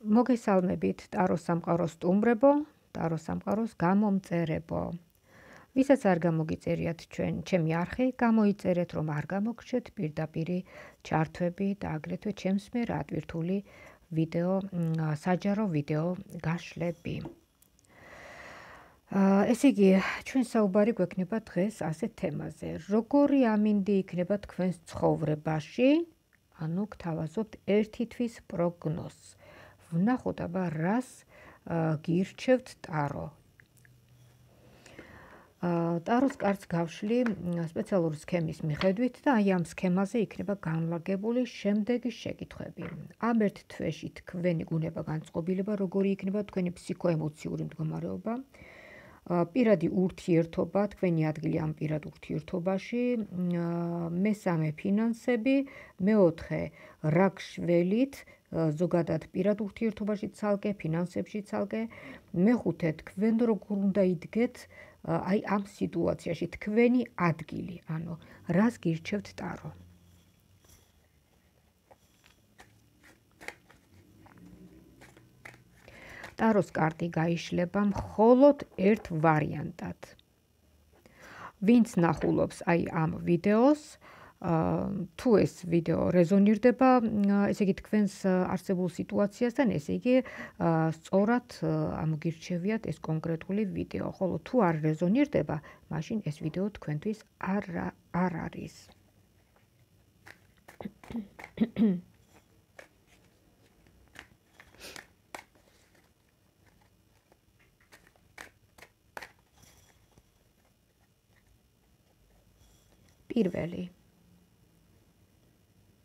მოგესალმებით ტაროს სამყაროს სტუმრებო, ტაროს სამყაროს გამომწერებო. ვისაც არ გამოგიწერიათ ჩემი არხი, გამოიწერეთ, რომ არ გამოგრჩეთ პირდაპირი ჩართვები და აგრეთვე ჩემს მიერ ატვირთული საჯარო ვიდეო გაშლები. ესე იგი, ჩვენ საუბარი გვექნება დღეს ასეთ თემაზე. როგორი ამინდი იქნება თქვენს ცხოვრებაში, ანუ გთავაზობთ ერთი თვის პროგნოზს. ვნახოთ აბა რას გირჩევთ ტარო. ტაროს კარტს გავშლი სპეციალური სქემის მიხედვით და აი ამ სქემაზე იქნება განლაგებული შემდეგი შეკითხვები. ამ ერთ თვეში თქვენი გუნება განწყობილება, როგორი იქნება თქვენი ფსიქოემოციური მდგომარეობა, პირადი ურთიერთობა, თქვენი ადგილი ამ პირად ურთიერთობაში, მესამე ფინანსები, მეოთხე რა გშველით, ზოგადად პირად ურთიერთობაში ცალკე, ფინანსებში ცალკე, მეხუთე თქვენ როგორ უნდა იდგეთ აი ამ სიტუაციაში, თქვენი ადგილი, ანუ რას გირჩევთ ტარო. ტაროს კარტი გაიშლება მხოლოდ ერთ ვარიანტად. ვინც ნახულობს აი ამ ვიდეოს, თუ ეს ვიდეო რეზონირდება, ესე იგი თქვენს არსებულ სიტუაციასთან, ესე იგი სწორად ამოგირჩევიათ ეს კონკრეტული ვიდეო, ხოლო თუ არ რეზონირდება, მაშინ ეს ვიდეო თქვენთვის არ არის. პირველი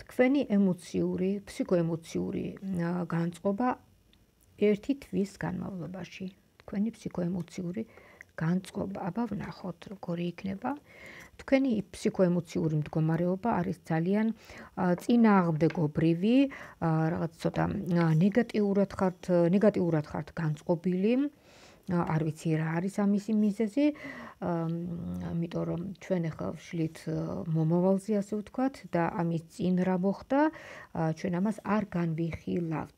თქვენი ემოციური, ფსიქოემოციური განწყობა ერთი თვის განმავლობაში. თქვენი ფსიქოემოციური განწყობა, აბა ვნახოთ, როგორი იქნება. თქვენი ფსიქოემოციური მდგომარეობა არის ძალიან წინააღმდეგობრივი, რაღაც ცოტა ნეგატიურად ხართ განწყობილი. არ ვიცი რა არის ამისი მიზეზი, იმიტომ რომ ჩვენ ახლა ვშლით მომავალზე, ასე ვთქვათ, და ამის წინ რა მოხდა, ჩვენ ამას არ განვიხილავთ.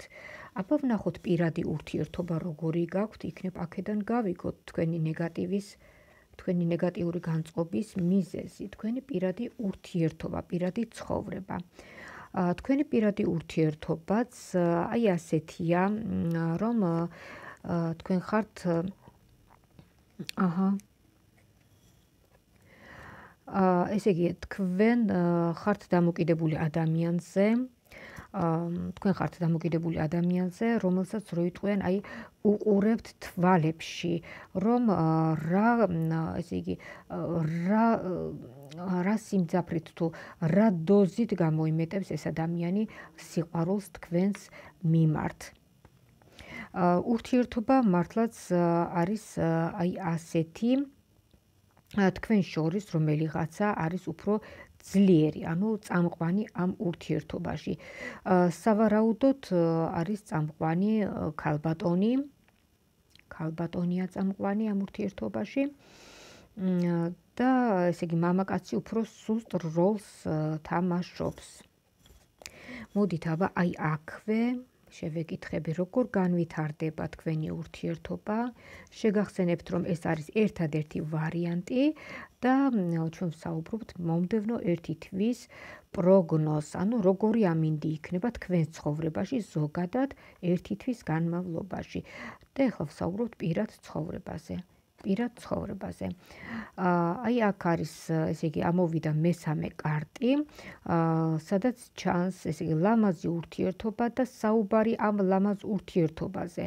აბა ვნახოთ პირადი ურთიერთობა როგორი გაქვთ, იქნებ აქედან გავიგოთ თქვენი ნეგატიური განწყობის მიზეზი, თქვენი პირადი ურთიერთობა, პირადი ცხოვრება. თქვენი პირადი ურთიერთობაც აი ასეთია, რომ თქვენ ხართ ესე იგი, თქვენ ხართ დამოკიდებული ადამიანზე, რომელსაც რო იტყვიან, აი უყურებთ თვალებში, რომ რა სიმძაფრით თუ რა დოზით გამოიმეტებს ეს ადამიანი სიყვარულს თქვენს მიმართ. ურთიერთობა მართლაც არის აი ასეთი, თქვენ შორის რომელიღაცა არის უფრო ძლიერი, ანუ წამყვანი ამ ურთიერთობაში. სავარაუდოდ არის წამყვანი ქალბატონია წამყვანი ამ ურთიერთობაში და ესე იგი მამაკაცი უფრო სუსტ როლს თამაშობს. მოდით აბა აი აქვე შევეკითხები, როგორ განვითარდება თქვენი ურთიერთობა. შეგახსენებთ, რომ ეს არის ერთადერთი ვარიანტი და ჩვენ ვსაუბრობთ მომდევნო ერთი თვის პროგნოზს, ანუ როგორი ამინდი იქნება თქვენს ცხოვრებაში ზოგადად ერთი თვის განმავლობაში. და ახლა ვსაუბრობთ პირად ცხოვრებაზე. აი აქ არის, ესე იგი, ამოვიდა მესამე კარტი, სადაც ჩანს, ესე იგი, ლამაზი ურთიერთობა და საუბარი ამ ლამაზ ურთიერთობაზე.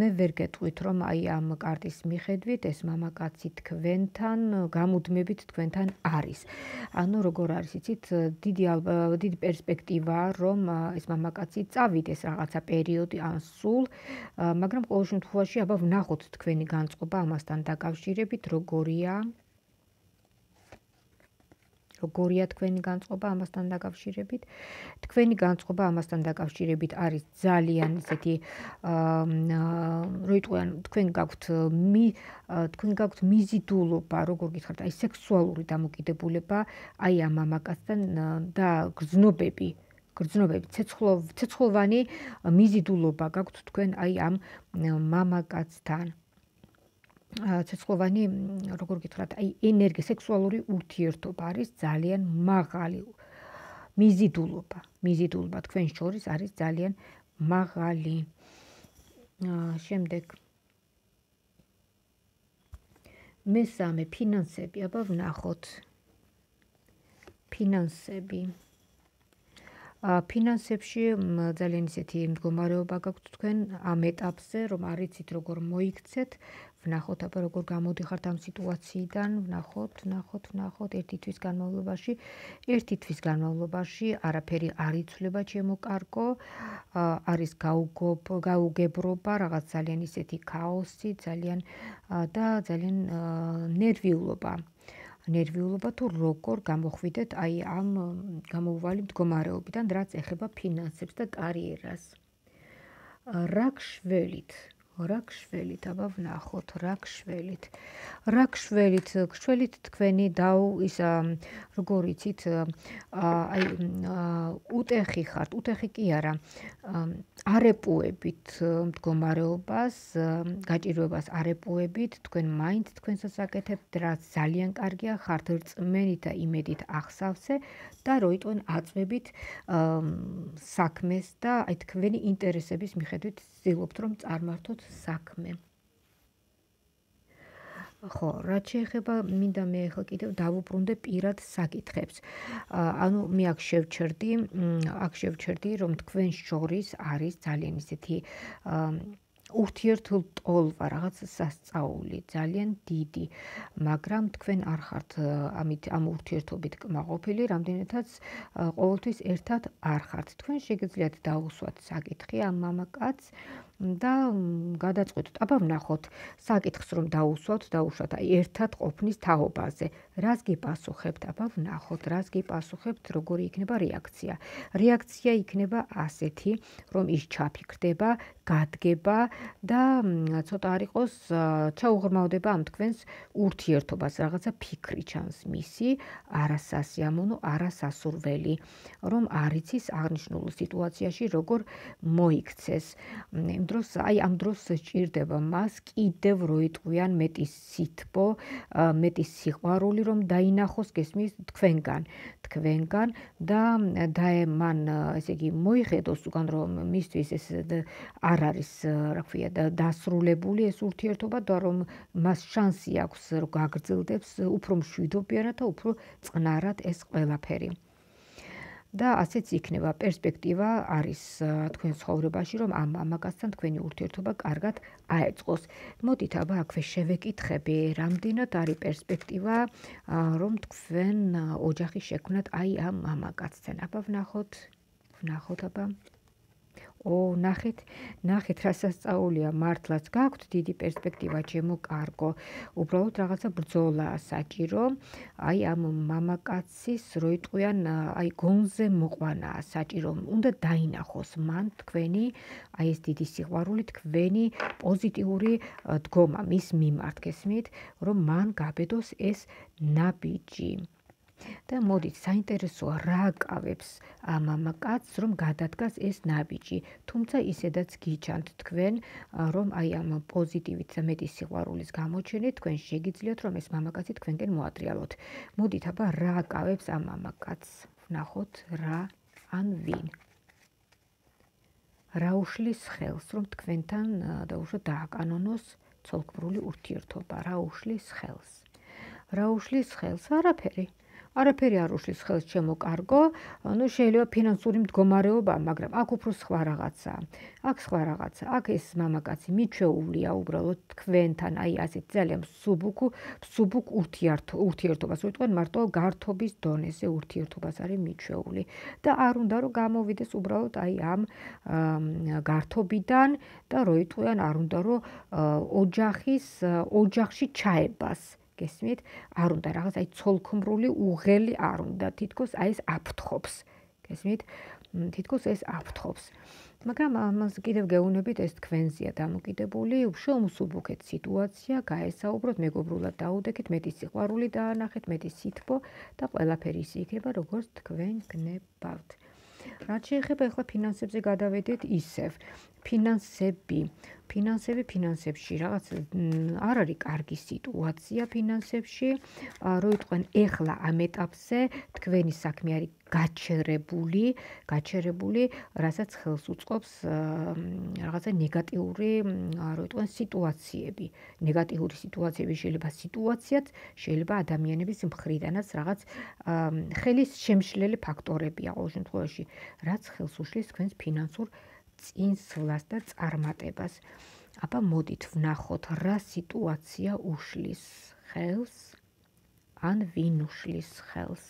მე ვერ გეტყვით, რომ აი ამ კარტის მიხედვით ეს მამაკაცი თქვენთან, გამუდმებით თქვენთან არის. ანუ როგორ არის, იცით, დიდი პერსპექტივაა, რომ ეს მამაკაცი წავიდეს რაღაცა პერიოდი ან სულ, მაგრამ ყოველ შემთხვევაში აბა ვნახოთ თქვენი განწყობა ამასთან დაკავშირებით, როგორია თქვენი განწყობა ამასთან დაკავშირებით. თქვენი განწყობა ამასთან დაკავშირებით არის ძალიან ესეთი, რო იტყვიან, თქვენ გაქვთ მიზიდულობა, როგორ გითხართ, აი სექსუალური დამოკიდებულება აი ამ მამაკაცთან და გრძნობები გრძნობები, ცეცხლოვანი მიზიდულობა გაქვთ თქვენ აი ამ მამაკაცთან. ცეცხლოვანი, როგორ გითხრათ, აი სექსუალური ურთიერთობა არის ძალიან მაღალი. მიზიდულობა თქვენ შორის არის ძალიან მაღალი. შემდეგ მესამე ფინანსები, აბა ვნახოთ. ფინანსებში ძალიან ისეთი მდგომარეობა გაქვთ თქვენ ამ ეტაპზე, რომ არ იცით როგორ მოიქცეთ. ვნახოთ აბა როგორ გამოდიხართ ამ სიტუაციიდან. ვნახოთ ერთი თვის განმავლობაში არაფერი არ იცვლება ჩემო კარგო. არის გაუგებრობა, რაღაც ძალიან ისეთი ქაოსი, ძალიან ნერვიულობა თუ როგორ გამოხვიდეთ აი ამ გამოუვალი მდგომარეობიდან, რაც ეხება ფინანსებს და კარიერას. რა გშველით, აბა ვნახოთ, რა გშველით თქვენი როგორ იცით, აი უტეხი ხართ, უტეხი კი არა, არეპუებით მდგომარეობას, გაჭირვებას არეპუებით, თქვენ მაინც თქვენსაც აკეთებთ, რაც ძალიან კარგია, ხართ რწმენით და იმედით ახსავსე და როიტყვენ აწვევით საქმეს და აი თქვენი ინტერესების მიხედვით ვცდილობთ რომ წარმართოთ საქმე. ხო, რაც შეეხება, მინდა მე ახლა კიდევ დავუბრუნდე პირად საკითხებს. ანუ მე აქ შევჩერდი, რომ თქვენ შორის არის ძალიან ისეთი ურთიერთულტოლვა, რაღაც სასწაული, ძალიან დიდი, მაგრამ თქვენ არ ხართ ამ ურთიერთობით კმაყოფილი, რამდენადაც ყოველთვის ერთად არ ხართ. თქვენ შეგიძლიათ დაუსვათ საკითხი ამ მამაკაცს და გადაწყვეტოთ, აბა ვნახოთ საკითხს რომ დაუშვათ, აი ერთად ყოფნის თაობაზე. რას გიპასუხებთ? აბა ვნახოთ, რას გიპასუხებთ, როგორი იქნება რეაქცია. რეაქცია იქნება ასეთი, რომ ის ჩაფიქრდება, გადგება და ცოტა არ იყოს ჩაუღრმავდება ამ თქვენს ურთიერთობას, რაღაცა ფიქრი ჩანს მისი, არასასიამოვნო, არასასურველი, რომ არ იცის აღნიშნულ სიტუაციაში როგორ მოიქცეს. ამ დროს სჭირდება მას კიდევ როიტყვიან მეტი სითბო, მეტი სიყვარული, რომ დაინახოს გესმის თქვენგან და მან ესე იგი მოიხედოს უკან რომ მისთვის ეს არ არის, რა ქვია, დასრულებული ეს ურთიერთობა და რომ მას შანსი აქვს რომ გაგრძელდებს უფრო მშვიდობიანად და უფრო წყნარად ეს ყველაფერი. და ასეც იქნება პერსპექტივა არის თქვენ ცხოვრებაში, რომ ამ მამაკაცთან თქვენი ურთიერთობა კარგად აეწყოს. მოდით აბა აქვე შევეკითხები, რამდენად არის პერსპექტივა, რომ თქვენ ოჯახი შექმნათ აი ამ მამაკაცთან. აბა ვნახოთ აბა. ნახეთ რა სასწაულია, მართლაც გაქვთ დიდი პერსპექტივა, ჩემო კარგო. უბრალოდ რაღაცა ბრძოლაა საჭირო, აი ამ მამაკაცის როიტყვიან აი გონზე მოყვანაა საჭირო, უნდა დაინახოს მან თქვენი აი ეს დიდი სიყვარული, თქვენი პოზიტიური დგომა მის მიმართ, გესმით, რომ მან გაბედოს ეს ნაბიჯი. და მოდით, საინტერესოა რა აკავებს ამ მამაკაცს, რომ გადადგას ეს ნაბიჯი. თუმცა ისედაც გიჩანთ თქვენ, რომ აი ამ პოზიტივით და მეტი სიყვარულის გამოჩენით თქვენ შეგიძლიათ, რომ ეს მამაკაცი თქვენკენ მოატრიალოთ. მოდით, აბა რა აკავებს ამ მამაკაცს? ვნახოთ რა ან ვინ. რა უშლის ხელს, რომ თქვენთან დაუშვათ დააკანონოს ცოლქმრული ურთიერთობა? რა უშლის ხელს? არაფერი არ უშლის ხელს, ჩემო კარგო, შეიძლება ფინანსური მდგომარეობა, მაგრამ აქ უფრო სხვა რაღაცაა. აქ ეს მამაკაცი მიჩვეულია უბრალოდ თქვენთან, აი ასეთ ძალიან მსუბუქ ურთიერთობას, როიტყვენ მარტო გართობის დონეზე ურთიერთობას არის მიჩვეული და არ უნდა რომ გამოვიდეს უბრალოდ აი ამ გართობიდან და როიტყვიან არ უნდა რომ ოჯახში ჩაებას. გესმით, არ უნდა რაღაც აი ცოლქმრული უღელი არ უნდა, თითქოს აი ეს აფრთხობს. გესმით, თითქოს ეს აფრთხობს. მაგრამ ამას კიდევ გეუბნებით, ეს თქვენზეა დამოკიდებული, შეუმსუბუქეთ სიტუაცია, გაესაუბროთ, მეგობრულად დაუდექით, მეტი სიყვარული დაანახეთ, მეტი სითბო და ყველაფერი ისე იქნება, როგორც თქვენ გნებავთ. რაც შეეხება ახლა ფინანსებზე გადავედეთ ისევ. ფინანსებში რაღაც არ არის კარგი სიტუაცია ფინანსებში, რო იტყვენ ეხლა ამ ეტაპზე თქვენი საქმე არის გაჩერებული, რასაც ხელს უწყობს რაღაცა ნეგატიური, რო იტყვენ სიტუაციები. ნეგატიური სიტუაციები შეიძლება სიტუაციაც, შეიძლება ადამიანების მხრიდანაც რაღაც ხელის შემშლელი ფაქტორებია ყოველ შემთხვევაში, რაც ხელს უშლის თქვენს ფინანსურ წინსვლას და წარმატებას. აბა მოდით ვნახოთ, რა სიტუაცია უშლის ხელს, ან ვინ უშლის ხელს.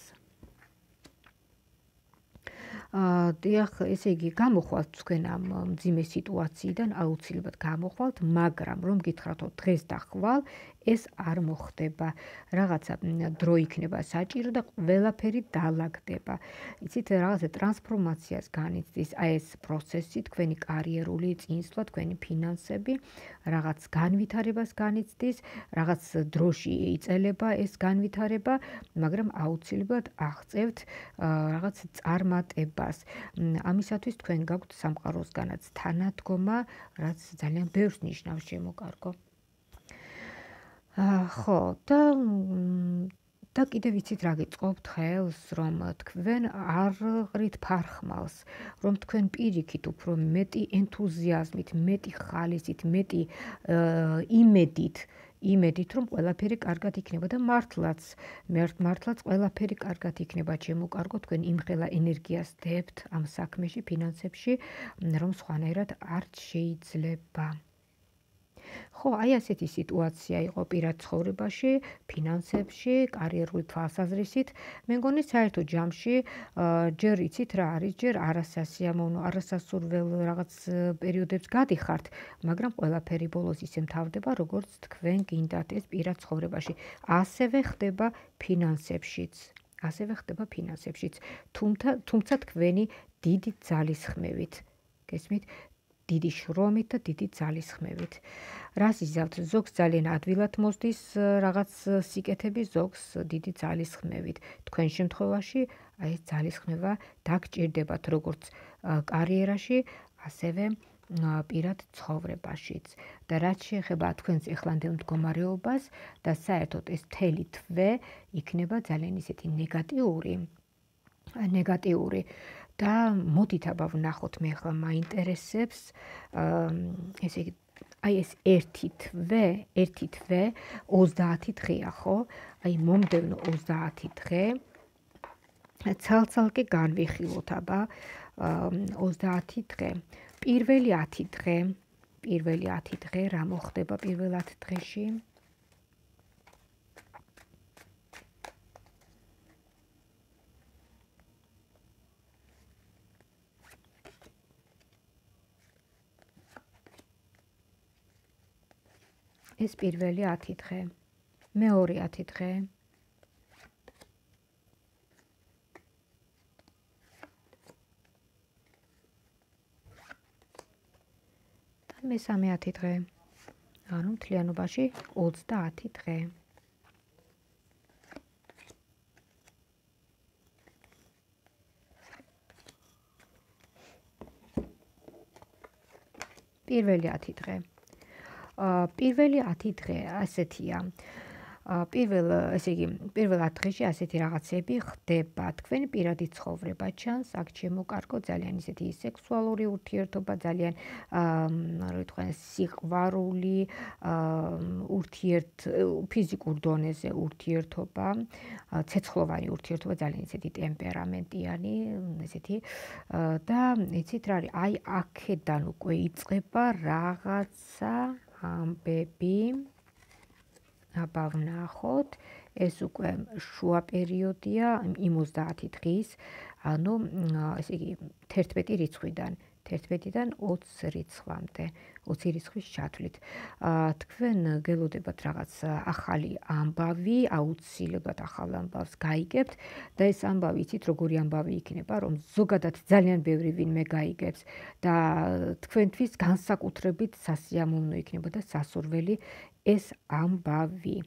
დიახ, ესე იგი, გამოხვალთ თქვენ ამ მძიმე სიტუაციიდან, აუცილებლად გამოხვალთ, მაგრამ რომ გითხრათო დღეს და ხვალ, ეს არ მოხდება. რაღაცა დრო იქნება საჭირო და ყველაფერი დაალაგდება. იცით, რაღაცა ტრანსფორმაციას განიცდის აი ეს პროცესი, თქვენი კარიერული წინსვლა, თქვენი ფინანსები, რაღაც განვითარებას განიცდის, რაღაც დროში იწელება ეს განვითარება, მაგრამ აუცილებლად აღწევთ რაღაც წარმატებას. ამისათვის თქვენ გაქვთ სამყაროსგანაც თანადგომა, რაც ძალიან ბევრს ნიშნავს შემოკარგო. ხო, და კიდევ ვიცით რა გიწყობთ ხელს, რომ თქვენ არ ყრით ფარხმალს, რომ თქვენ პირიქით უფრო მეტი ენთუზიაზმით, მეტი ხალისით, მეტი იმედით, რომ ყველაფერი კარგად იქნება და მართლაც ყველაფერი კარგად იქნება, ჩემო კარგო, თქვენ იმხელა ენერგიას დებთ ამ საქმეში, ფინანსებში, რომ სხვანაირად არ შეიძლება. ხო, აი ასეთი სიტუაცია იყო პირად ცხოვრებაში, ფინანსებში, კარიერული თვალსაზრისით. მე მგონი საერთო ჯამში ჯერ იცით რა არის, ჯერ არასასიამოვნო, არასასურველ რაღაც პერიოდებს გადიხართ, მაგრამ ყველაფერი ბოლოს ისე მთავრდება, როგორც თქვენ გინდათ ეს პირად ცხოვრებაში. ასევე ხდება ფინანსებშიც. თუმცა თქვენი დიდი ძალისხმევით. გესმით? დიდი შრომით და დიდი ძალისხმევით. რას იზავთ? ზოგს ძალიან ადვილად მოსდის რაღაც სიკეთები, ზოგს დიდი ძალისხმევით. თქვენ შემთხვევაში აი ეს ძალისხმევა დაგჭირდებათ როგორც კარიერაში, ასევე პირად ცხოვრებაშიც. და რაც შეეხება თქვენს ეხლანდელ მდგომარეობას და საერთოდ ეს მთელი თვე იქნება ძალიან ისეთი ნეგატიური. და მოდით აბა ვნახოთ, მე ახლა მაინტერესებს ესე იგი აი ეს ერთი თვე 30 დღეა, ხო? აი მომდევნო 30 დღე ცალ-ცალკე განვიხილოთ აბა 30 დღე. პირველი 10 დღე რა მოხდება პირველ 10 დღეში? ეს პირველი 10 დღე. მეორე 10 დღე. და მესამე 10 დღე. ანუ მთლიანობაში 30 დღე. პირველი 10 დღე. პირველი 10 დღე ასეთია. პირველ 10 დღეში ასეთი რაღაცები ხდება. თქვენი პირადი ცხოვრება ჩანს, აქ ჩემოკარგო, ძალიან ისეთი სექსუალური ურთიერთობა, ძალიან რა იტყვიან, სიყვარული, ფიზიკურ დონეზე ურთიერთობა, ცეცხლოვანი ურთიერთობა, ძალიან ისეთი ტემპერამენტიანი, ესეთი და იცით რა არის, აი აქედან უკვე იწყება რაღაცა ამბები. აბა ვნახოთ, ეს უკვე შუა პერიოდია იმ 30 დღის, ანუ ესე იგი 11 რიცხვიდან 20 რიცხვამდე, 20 რიცხვის ჩათვლით. თქვენ გელოდებათ რაღაც ახალი ამბავი, აუცილებლად ახალ ამბავს გაიგებთ და ეს ამბავი იცით როგორი ამბავი იქნება, რომ ზოგადად ძალიან ბევრი ვინმე გაიგებს და თქვენთვის განსაკუთრებით სასიამოვნო იქნება და სასურველი ეს ამბავი.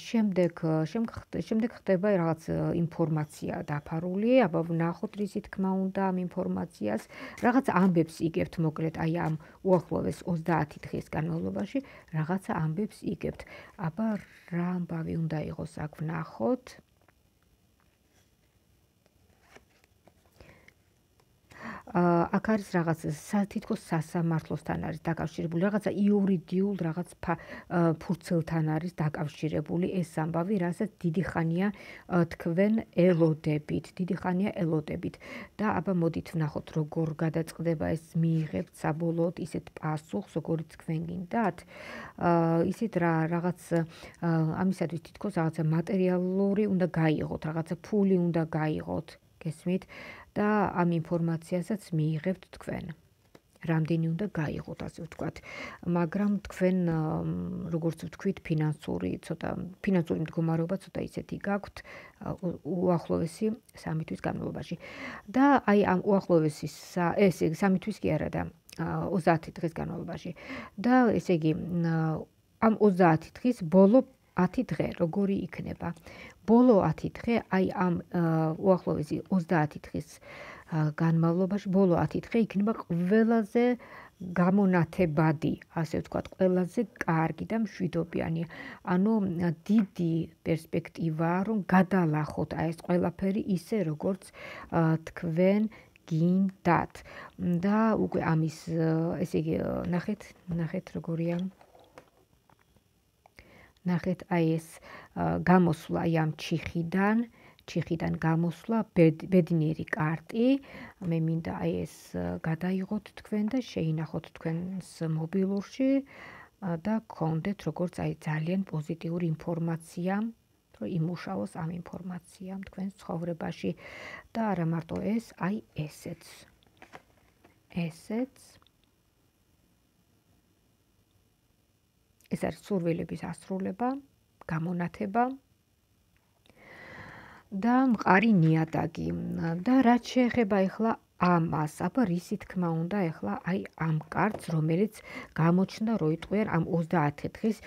შემდეგ ხდება რაღაც ინფორმაცია დაფარული, აბა ვნახოთ რისი თქმა უნდა ამ ინფორმაციას, რაღაც ამბებს იგებთ მოკლედ აი ამ უახლოეს 30 დღის განმავლობაში, რაღაცა ამბებს იგებთ. აბა რა ამბავი უნდა იყოს აქ ვნახოთ. აქ არის რაღაც თითქოს სასამართლოსთან არის დაკავშირებული, რაღაცა იურიდიულ რაღაც ფურცელთან არის დაკავშირებული ეს ამბავი, რასაც დიდი ხანია თქვენ ელოდებით. და აბა მოდით ვნახოთ როგორ გადაწყდება ეს მიიღებთ საბოლოოდ ისეთ პასუხს, როგორიც თქვენ გინდათ. ისეთ რაღაც ამისათვის თითქოს რაღაცა მატერიალური უნდა გაიღოთ, რაღაცა ფული უნდა გაიღოთ, გესმით? და ამ ინფორმაციასაც მიიღებთ თქვენ. რამდენი უნდა გაიღოთ, ასე ვთქვათ. მაგრამ თქვენ როგორც ვთქვით, ფინანსური მდგომარეობა ცოტა ისეთი გაქვთ უახლოესი 3 თვის განმავლობაში. და აი ამ უახლოესი ესე 3 თვის კი არა და 30 დღის განმავლობაში. და ესე იგი ამ 30 დღის ბოლო 10 დღე როგორი იქნება? ბოლო 10 დღე აი ამ უახლოესი 30 დღის განმავლობაში ბოლო 10 დღე იქნება ყველაზე გამონათებადი, ასე ვთქვათ, ყველაზე კარგი და მშვიდობიანი. ანუ დიდი პერსპექტივაა, რომ გადალახოთ აი ეს ყველაფერი ისე, როგორც თქვენ გინდათ. და უკვე ამის ესე იგი ნახეთ როგორია. ნახეთ აი ეს გამოსვლა აი ამ ჩიხიდან გამოსვლა ბედნიერი კარტი. მე მინდა აი ეს გადაიღოთ თქვენ და შეინახოთ თქვენს მობილურში და გქონდეთ როგორც აი ძალიან პოზიტიური ინფორმაცია, რომ იმუშაოს ამ ინფორმაციამ თქვენს ცხოვრებაში და არა მარტო ეს, აი ესეც. ეს არის სურვილების ასრულება, გამონათება და მყარი ნიადაგი. და რაც შეეხება ახლა ამას, აბა რისი თქმა უნდა ახლა აი ამ კარტს, რომელიც გამოჩნდა როიტყვიერ ამ 30 დღის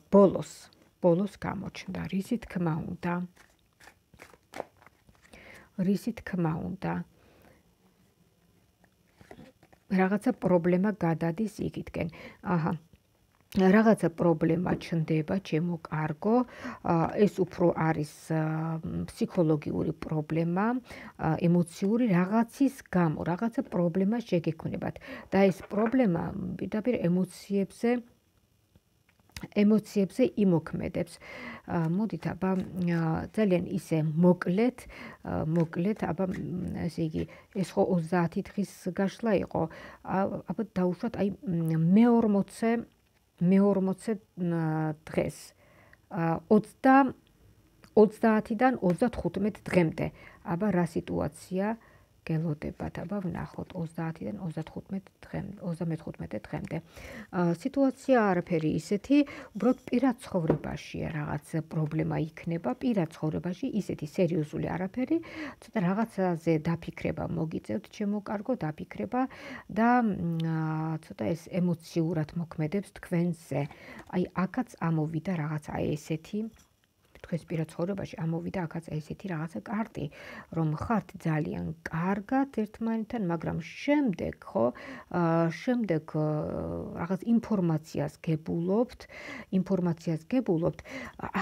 ბოლოს გამოჩნდა. რისი თქმა უნდა. რაღაცა პრობლემა გადადის იქითკენ. აჰა. რაღაცა პრობლემა ჩნდება, ჩემო კარგო, ეს უფრო არის ფსიქოლოგიური პრობლემა, ემოციური რაღაცის გამო, რაღაცა პრობლემა შეგექმნებათ და ეს პრობლემა პირდაპირ ემოციებზე იმოქმედებს. მოდით აბა ძალიან ისე მოკლედ, აბა ესე იგი ეს ხო 30 დღის გაშლა იყო, აბა დაუშვათ აი მე-40 დღეს 30-დან 35 დღემდე. აბა რა სიტუაცია გელოდებათ? აბა ვნახოთ 30-დან 35 დღემდე. სიტუაცია არაფერი ისეთი, უბრალოდ პირად ცხოვრებაშია რაღაც პრობლემა იქნება, პირად ცხოვრებაში ისეთი სერიოზული არაფერი, ცოტა რაღაცაზე დაფიქრება მოგიწევთ, ჩემო კარგო, დაფიქრება და ცოტა ეს ემოციურად მოქმედებს თქვენზე. აი აქაც ამოვიდა რაღაცა ესეთი თქვენს პირად ცხოვრებაში ამოვიდა აქაც ესეთი რაღაცა კარტი, რომ ხართ ძალიან კარგად ერთმანეთთან, მაგრამ შემდეგ რაღაც ინფორმაციას გებულობთ,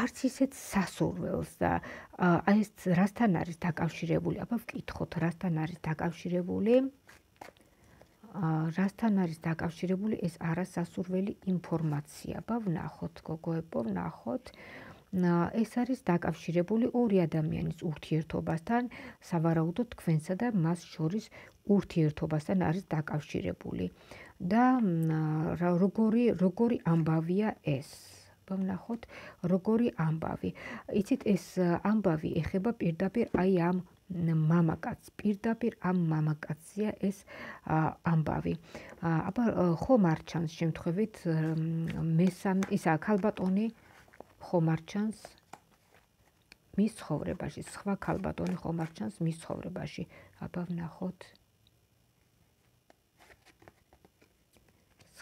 არც ისეთ სასურველს და აი ეს რასთან არის დაკავშირებული? აბა ვკითხოთ, რასთან არის დაკავშირებული ეს არასასურველი ინფორმაცია? აბა ვნახოთ, გოგოებო, ვნახოთ. ეს არის დაკავშირებული ორი ადამიანის ურთიერთობასთან, სავარაუდოდ თქვენსა და მას შორის ურთიერთობასთან არის დაკავშირებული. და როგორი ამბავია ეს? ვნახოთ, როგორი ამბავი. იცით, ეს ამბავი ეხება პირდაპირ აი ამ მამაკაცია ეს ამბავი. აბა ხომ არ ჩანს შემთხვევით ისა ქალბატონი ხომ არ ჩანს მის ცხოვრებაში, სხვა ქალბატონი ხომ არ ჩანს მის ცხოვრებაში. აბა ვნახოთ.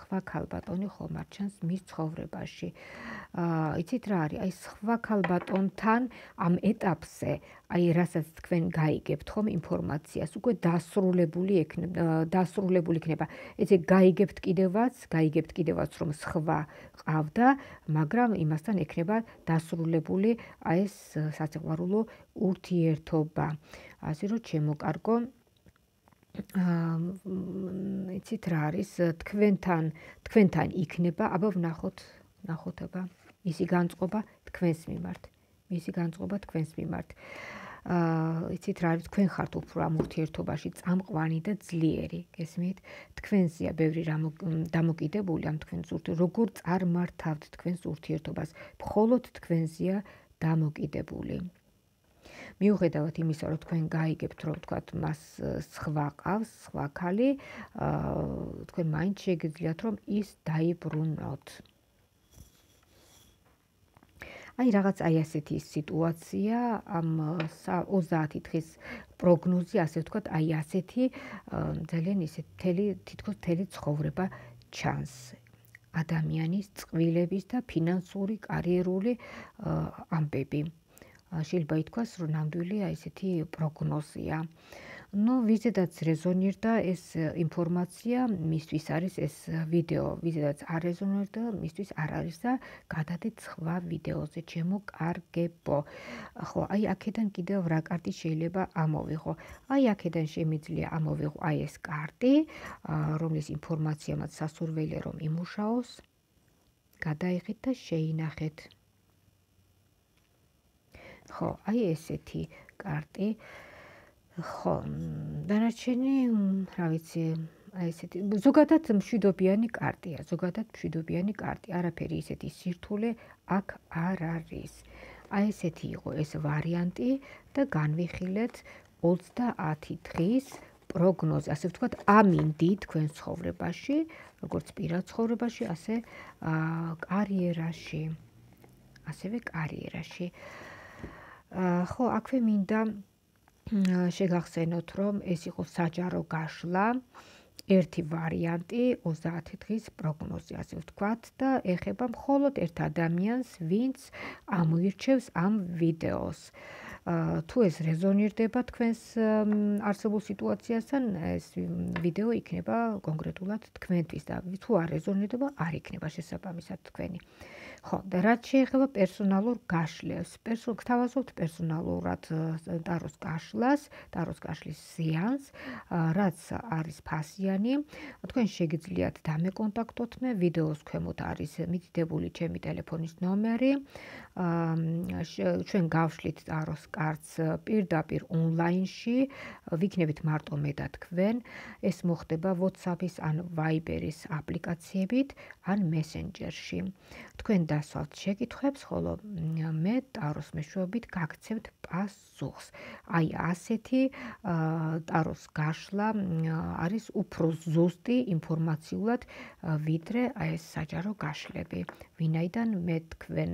სხვა ქალბატონი ხომ არ ჩანს მის ცხოვრებაში. იცით რა არის? აი სხვა ქალბატონთან ამ ეტაპზე, აი რასაც თქვენ გაიგებთ ხომ ინფორმაციას, უკვე დასრულებული იქნება. ესე გაიგებთ კიდევაც რომ სხვა ყავდა, მაგრამ იმასთან ექნება დასრულებული აი ეს სასიყვარულო ურთიერთობა. ასე რომ ჩემო კარგო, იცით რა არის, თქვენთან იქნება, აბა ვნახოთ აბა მისი განწყობა თქვენს მიმართ. იცით რა არის, თქვენ ხართ უფრო ამ ურთიერთობაში წამყვანი და ძლიერი, გესმით? თქვენზეა ბევრი რამ დამოკიდებული ამ თქვენს როგორ წარმართავთ თქვენს ურთიერთობას, მხოლოდ თქვენზეა დამოკიდებული. მიუხედავად იმისა, რომ თქვენ გაიგებთ, რომ თქვათ მას სხვა ყავს, სხვა ქალი, თქვენ მაინც შეგიძლიათ, რომ ის დაიბრუნოთ. აი რაღაც აი ასეთი სიტუაცია, ამ 30 დღის პროგნოზი, ასე ვთქვათ, აი ასეთი ძალიან ისე თითქოს მთელი ცხოვრება ჩანს. ადამიანის წყვილების და ფინანსური, კარიერული ამბები. შეიძლება ითქვას, რომ ნამდვილი აი ესეთი პროგნოზია. ვიზედაც რეზონირდა ეს ინფორმაცია, მისთვის არის ეს ვიდეო, ვიზედაც არ რეზონირდა, მისთვის არ არის და გადადეთ სხვა ვიდეოზე, ჩემო კარგებო. ხო, აი აქედან კიდევ რა კარტი შეიძლება ამოვიღო? აი აქედან შემიძლია ამოვიღო აი ეს კარტი, რომლის ინფორმაცია მათ სასურველია რომ იმუშაოს. გადაიღეთ და შეინახეთ. ხო, აი ესეთი კარტი. ხო, დანარჩენი, რა ვიცი, აი ესეთი ზოგადად მშვიდობიანი კარტია, არაფერი ისეთი სირთულე აქ არ არის. აი ესეთი იყო ეს ვარიანტი და განვიხილეთ 30 დღის პროგნოზი, ასე ვთქვათ, ამინდი თქვენ ცხოვრებაში, როგორც პირად ცხოვრებაში, ასე კარიერაში. ხო, აქვე მინდა შეგახსენოთ, რომ ეს იყო საჯარო გაშლა, ერთი ვარიანტი 30 დღის პროგნოზი, ასე ვთქვათ, და ეხება მხოლოდ ერთ ადამიანს, ვინც ამოირჩევს ამ ვიდეოს. თუ ეს რეზონირდება თქვენს არსებულ სიტუაციასთან, ეს ვიდეო იქნება კონკრეტულად თქვენთვის და თუ არ რეზონირდება, არ იქნება შესაბამისად თქვენი. ხო, და რაც შეეხება პერსონალურ გაშლებს, გთავაზობთ პერსონალურად ტაროს გაშლის სეანს, რაც არის ფასიანი. თქვენ შეგიძლიათ დამეკონტაქტოთ მე, ვიდეოს ქვემოთ არის მითითებული ჩემი ტელეფონის ნომერი. ჩვენ გავშლით ტაროს კარტს პირდაპირ ონლაინში, ვიქნებით მარტო მე და თქვენ. ეს მოხდება WhatsApp-ის ან Viber-ის აპლიკაციებით, ან Messenger-ში. თქვენ დასვალთ შეკითხვებს, ხოლო მე ტაროს მეშვეობით გაგცემთ პასუხს. აი ასეთი ტაროს გაშლა არის უფრო ზუსტი ინფორმაციულად, ვიდრე აი ეს საჯარო გაშლები. ვინაიდან მე თქვენ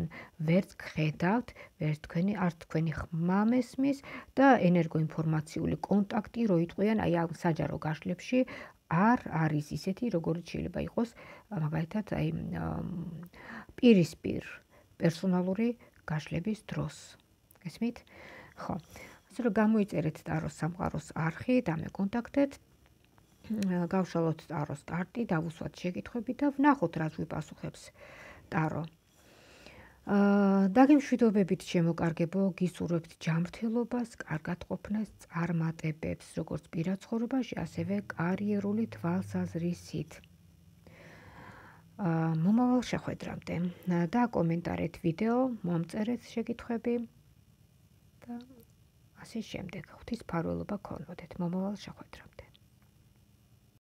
ვერც გხედავთ, არც თქვენი ხმა მესმის და ენერგოინფორმაციული კონტაქტი რო იტყვიან აი ამ საჯარო გაშლებში არ არის ისეთი, როგორც შეიძლება იყოს მაგალითად აი პირისპირ პერსონალური გაშლების დროს. გესმით? ხო. ასე რომ გამოიწერეთ ტაროს სამყაროს არხი, დამეკონტაქტეთ, გავშალოთ ტაროს კარტი, დავუსვათ შეკითხვები და ვნახოთ რაც ვიპასუხებს ტარო. დაგემშვიდობებით შემოკარგებო, გისურვებთ ჯანმრთელობას, კარგად ყოფნას, წარმატებებს, როგორც პირად ცხოვრებაში, ასევე კარიერული თვალსაზრისით. მომავალ შეხვედრამდე და კომენტარეთ ვიდეო, მომწერეთ შეკითხვები და ასე შემდეგ. ღვთის მფარველობა გქონოდეთ მომავალ შეხვედრამდე.